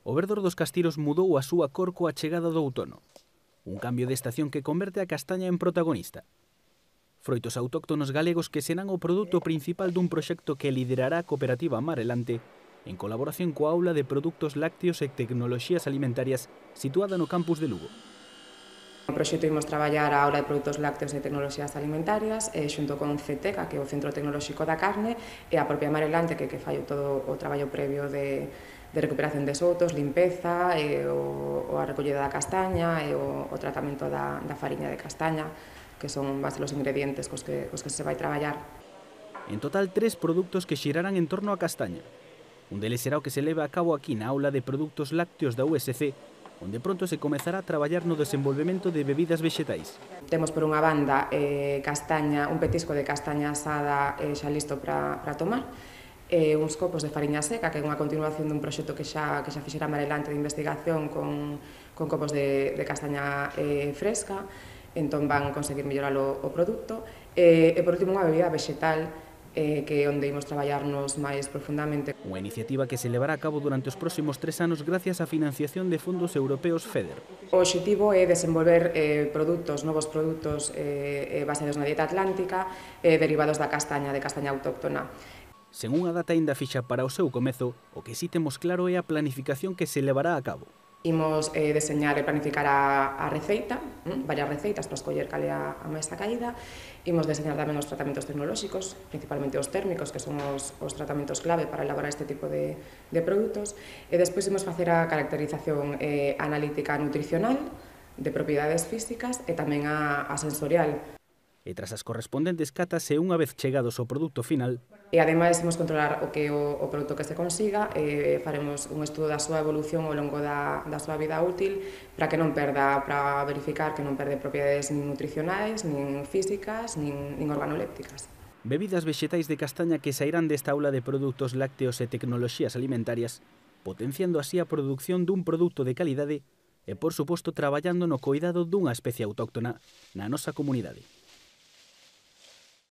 O verdor dos castiros mudou a súa cor coa chegada do outono. Un cambio de estación que converte a castaña en protagonista. Froitos autóctonos galegos que serán o produto principal dun proxecto que liderará a cooperativa Amarelante en colaboración coa Aula de Produtos Lácteos e Tecnoloxías Alimentarias situada no campus de Lugo. No proxecto imos traballar a Aula de Produtos Lácteos e Tecnoloxías Alimentarias xunto con CETECA, que é o Centro Tecnolóxico da Carne, e a propia Amarelante, que fai todo o traballo previo de recuperación de sotos, limpeza, a recollida da castaña e o tratamento da fariña de castaña, que son base os ingredientes cos que se vai traballar. En total, 3 produtos que xirarán en torno á castaña. Un deles será o que se leva a cabo aquí na Aula de Produtos Lácteos da USC, onde pronto se comezará a traballar no desenvolvemento de bebidas vexetais. Temos por unha banda castaña, un petisco de castaña asada xa listo para tomar, uns copos de fariña seca, que é unha continuación dun proxecto que xa fixera Amarelante de investigación con copos de castaña fresca, entón van conseguir mellorar o produto. E por último, unha bebida vexetal, que é onde imos traballarnos máis profundamente. Unha iniciativa que se levará a cabo durante os próximos 3 anos gracias á financiación de fondos europeos FEDER. O obxectivo é desenvolver novos produtos baseados na dieta atlántica, derivados da castaña, de castaña autóctona. Sen unha data aínda fixa para o seu comezo, o que si temos claro é a planificación que se levará a cabo. Imos deseñar e planificar a receita, varias receitas para escoller cal é a máis acaída. Imos deseñar tamén os tratamentos tecnolóxicos, principalmente os térmicos, que son os tratamentos clave para elaborar este tipo de produtos. E despois imos facer a caracterización analítica nutricional, de propiedades físicas e tamén a sensorial. E tras as correspondentes catas e unha vez chegados ao produto final, e ademais imos controlar o que o produto que se consiga, faremos un estudo da súa evolución ao longo da súa vida útil para que non perda, para verificar que non perde propiedades nin nutricionais, nin físicas, nin organolépticas. Bebidas vexetais de castaña que sairán desta aula de produtos lácteos e tecnoloxías alimentarias, potenciando así a produción dun produto de calidade e, por suposto, traballando no coidado dunha especie autóctona na nosa comunidade.